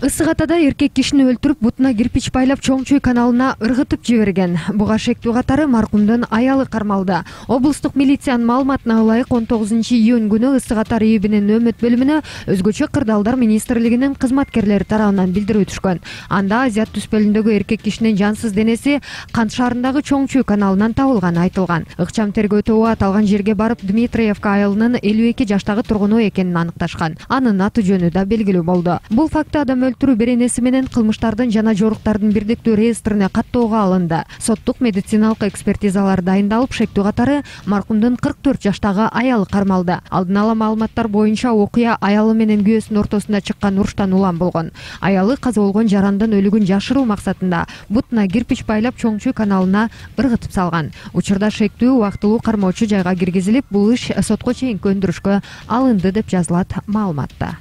Ысык Атада эркек кишини өлтүрүп, бутуна кирпич байлап Чоң Чүй каналына ыргытып жиберген. Буга шектүү катары маркумдун аялы кармалды. Облустук милициянын маалыматына ылайык 19-июнь күнү Ысык Ата РИИБинин өмөт бөлүмүнө өзгөчө кырдаалдар министрлигинин кызматкерлери тарабынан билдирүү түшкөн. Анда Азият түспөлүндөгү эркек кишинин жансыз денеси Кант шаарындагы Чоң Чүй каналынан табылганы айтылган. Ыкчам тергөө тобу аталган жерге барып, Дмитриевка айылынын 52 жаштагы тургуну экенин аныкташкан. Анын аты жөнү да белгилүү болду. Бул факты адам өлтүрүү беренеси менен кылмыштардын жана жоруктардын бирдиктүү реестрине каттоого алынды. Соттук медициналык экспертизалар дайындалып, шектүү катары маркумдун 44 жаштагы аялы кармалды. Алдын ала маалыматтар боюнча окуя аялы менен күйөөсүнүн ортосунда чыккан уруштан улам болгон. Аялы каза болгон жарандын өлүгүн жашыруу максатында бутуна кирпич байлап Чоң Чүй каналына ыргытып салган. Учурда шектүү убактылуу кармоочу жайга киргизилип, бул иш сотко чейинки өндүрүшкө алынды деп жазылат маалыматта.